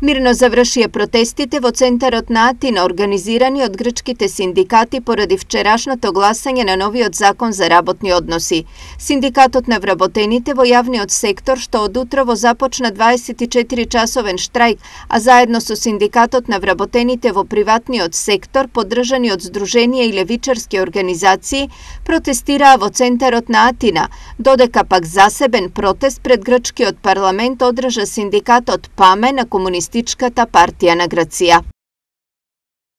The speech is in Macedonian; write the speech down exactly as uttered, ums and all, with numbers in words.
Мирно завршија протестите во центарот на Атина, организирани од грчките синдикати поради вчерашното гласање на новиот закон за работни односи. Синдикатот на вработените во јавниот сектор, што од утрово започна дваесет и четири часовен штрајк, а заедно со синдикатот на вработените во приватниот сектор, поддржани од здруженија и левичарски организации, протестираа во центарот на Атина, додека пак засебен протест пред грчкиот парламент одржа синдикатот ПАМЕ на Комунистичката партија на Грција.